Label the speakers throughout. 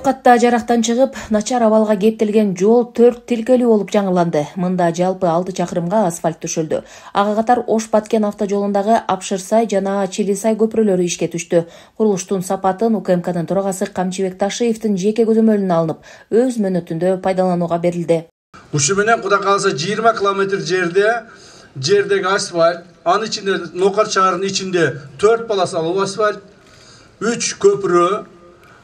Speaker 1: Ноокатта жарактан чыгып, начар абалга кептелген жол 4 тилкелүү болуп жаңыланды. Мында жалпы 6 чакырымга асфальт төшөлдү. Ага катар Ош-Баткен автожолундагы Апшырсай жана Чилисай көпүрөлөрү ишке түштү. Курулуштун сапатын УКМКнын төрагасы Камчыбек Ташиевдин жеке көзөмөлүнө алынып, өз мөөнөтүндө пайдаланууга берилди.
Speaker 2: Ушул менен Кудай кааласа 20 километр жердеги асфальт, анын ичинде Ноокат шаарынын ичинде 4 полосалуу асфальт, 3 көпүрө,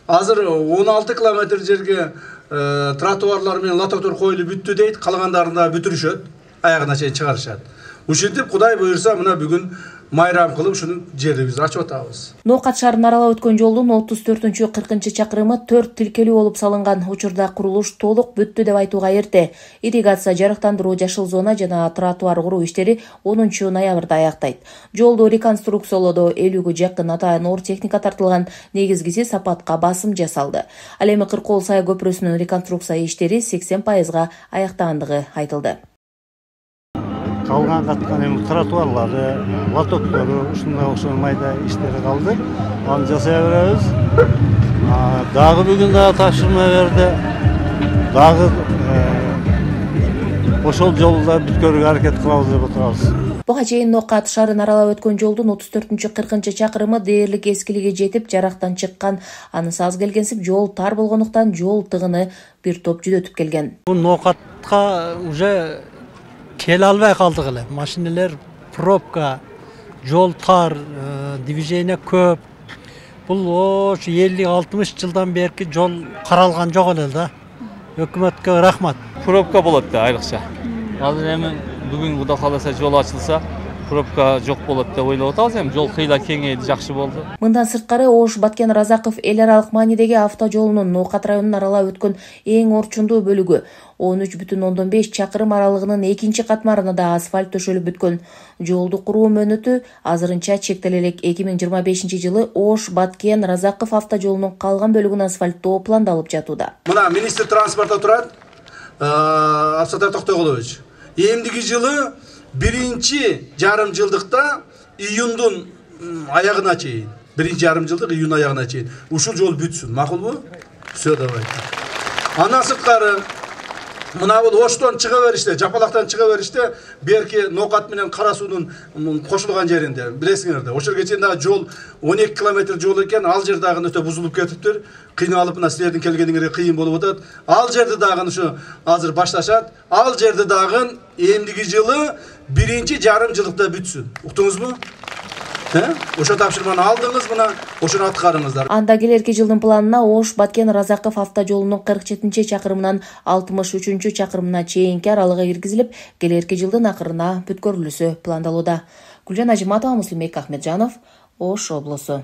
Speaker 2: азыр 16 километр жерге тротуарлар менен лотоктор коюлуп бүттү дейт, калгандарында бүтүрүшөт, аягына чейин чыгарышат. Ушинтип Кудай буюрса мына бүгүн майрам кылып ушуну жерибизди ачып атабыз.
Speaker 1: Ноокат шаарын аралап өткөн жолдун 34-40 чакырымы 4 тилкелүү болуп салынган. Учурда курулуш толук бүттү деп айтууга эрте. Ирригация, жарыктандыруу, жашыл зона жана тротуар куруу иштери 10 ноябрда аяктайт. Жолду реконструкциялоодо 50ге жакын атайын оор техника тартылган, негизгиси сапатка басым жасалды. Ал эми Кыркол Сай көпүрөсүнүн реконструкция иштери 80% аяктагандыгы айтылды.
Speaker 3: Калган каткан эми тротуарлары, лотоктору, ушундай окшогон майда иштери калды. Аны жасай беребиз. Дагы бүгүн дагы тапшырма берди. Дагы ошол жолду бүткөрүүгө аракет кылабыз деп отурабыз.
Speaker 1: Буга чейин Ноокат шаарын аралап өткөн жолдун 34-40 чакырымы дээрлик эскилиге жетип, жарактан чыккан. Анысы аз келгенсип, жол тар болгондуктан жол тыгыны бир топ жүдөтүп келген.
Speaker 4: Бул Ноокатка уже келе албай калдык эле. Машинелер пробка, жол тар, движение көп. Бул ошо 50-60 жылдан берки жол каралган жок эле да. Өкмөткө рахмат.
Speaker 5: Пробка болот да айрыкча. Азыр эми бүгүн Кудай кааласа жол ачылса, пробка жок болот деп ойлоп атабыз. Эми жол кыйла кеңейди, жакшы болду.
Speaker 1: Мындан сырткары Ош-Баткен Разаков эл аралык маанидеги автожолунун Ноокат районун аралап өткөн эң орчундуу бөлүгү 13,5 чакырым аралыгынын экинчи катмарына да асфальт төшөлүп бүткөн. Жолду куруу мөөнөтү азырынча чектеле элек. 2025 жылы Ош-Баткен Разаков автожолунун калган бөлүгүн асфальттоо пландалып жатууда.
Speaker 2: Мына министр транспортто турат, Абсатар Токтогулович. Эмдиги жылы биринчи жарым жылдыкта июндун аягына чейин, биринчи жарым жылдык июн аягына чейин ушул жол бүтсүн. Макулбу? Все, давайте. Андан сырткары мына бул Оштон чыга бериште, Жапалактан чыга бериште, берки Ноокат менен Кара суунун кошулган жеринде, билесиңерде. Ошол чейин дагы жол 12 километр жол экен, ал жер дагы өтө бузулуп кетиптир. Кыйналып мына силердин келгениңерге кыйын болуп атат. Ал жерди дагы ушу азыр башташат. Ал жерди дагы эмдиги жылы биринчи жарым жылдыкта бүтсүн. Уктуңузбу? Ошо тапшырманы алдыңыз, мына ошону аткарыңыздар.
Speaker 1: Анда келерки жылдын планына Ош-Баткен Разаков автожолунун 47 чакырымынан 63 чакырымына чейинки аралыгы киргизилип, келерки жылдын акырына бүткөрүлүүсү пландалууда. Гүлжан Ажиматова, Муслимбек Ахмеджанов, Ош облусу.